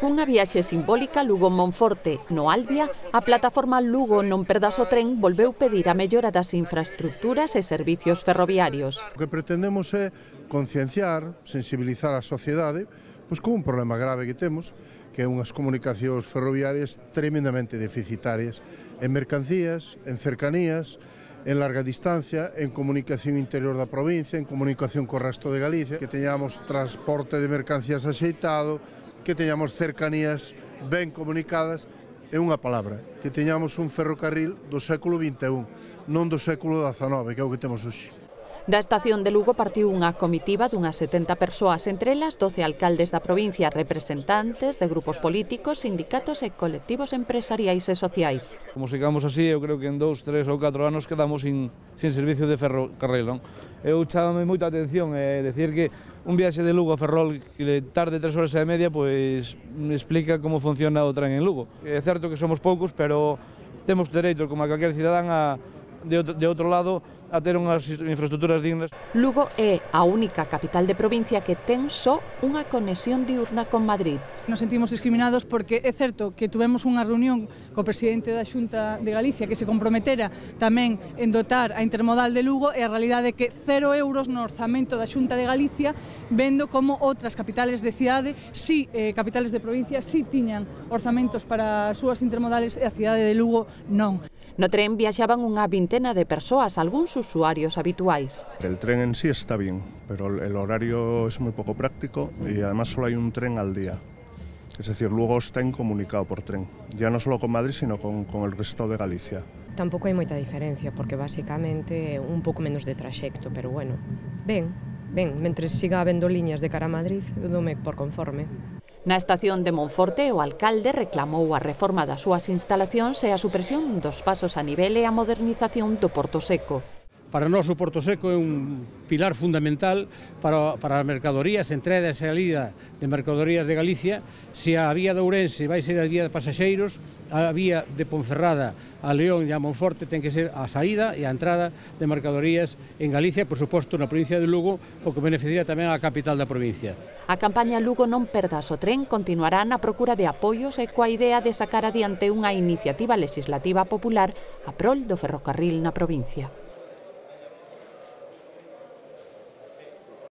Cunha viaxe simbólica Lugo-Monforte, no Albia, a plataforma Lugo non perdas o tren volveu pedir a mellora das infraestructuras e servicios ferroviarios. O que pretendemos é concienciar, sensibilizar a sociedade con un problema grave que temos, que é unhas comunicacións ferroviarias tremendamente deficitarias en mercancías, en cercanías, en larga distancia, en comunicación interior da provincia, en comunicación co resto de Galicia, que teñamos transporte de mercancías axeitado, que teñamos cercanías ben comunicadas, é unha palabra, que teñamos un ferrocarril do século XXI, non do século XIX, que é o que temos hoxe. Da estación de Lugo partiu unha comitiva dunhas 70 persoas, entre elas 12 alcaldes da provincia, representantes de grupos políticos, sindicatos e colectivos empresariais e sociais. Como sigamos así, eu creo que en 2, 3 ou 4 anos quedamos sin servicio de ferrocarril, non? Eu chámame moita atención decir que un viaxe de Lugo a Ferrol que tarde 3 horas e media, pois me explica como funciona o tren en Lugo. É certo que somos poucos, pero temos dereito, como a calquer cidadán, de outro lado, a ter unhas infraestructuras dignas. Lugo é a única capital de provincia que ten só unha conexión diurna con Madrid. Nos sentimos discriminados porque é certo que tuvemos unha reunión co presidente da Xunta de Galicia que se comprometera tamén en dotar a intermodal de Lugo e a realidade é que 0 euros no orzamento da Xunta de Galicia, vendo como outras capitales de cidade, capitales de provincia, tiñan orzamentos para as súas intermodales e a cidade de Lugo non. No tren viaxaban unha vintena de persoas, algúns usuarios habituais. El tren en sí está bien, pero el horario es muy poco práctico y además solo hay un tren al día. Es decir, luego está incomunicado por tren, ya no solo con Madrid, sino con el resto de Galicia. Tampouco hai moita diferencia, porque basicamente un pouco menos de traxecto, pero bueno, ben, mentres siga habendo liñas de cara a Madrid, eu dome por conforme. Na estación de Monforte, o alcalde reclamou a reforma das súas instalacións e a supresión dos pasos a nivel e a modernización do Porto Seco. Para nós o Porto Seco é un pilar fundamental para as mercadorías, entrada e salida de mercadorías de Galicia. Se a vía de Ourense vai ser a vía de pasaxeiros, a vía de Ponferrada a León e a Monforte ten que ser a saída e a entrada de mercadorías en Galicia, por suposto na provincia de Lugo, o que beneficiaría tamén a capital da provincia. A campaña Lugo non perdas o tren continuará na procura de apoios e coa idea de sacar adiante unha iniciativa legislativa popular a prol do ferrocarril na provincia.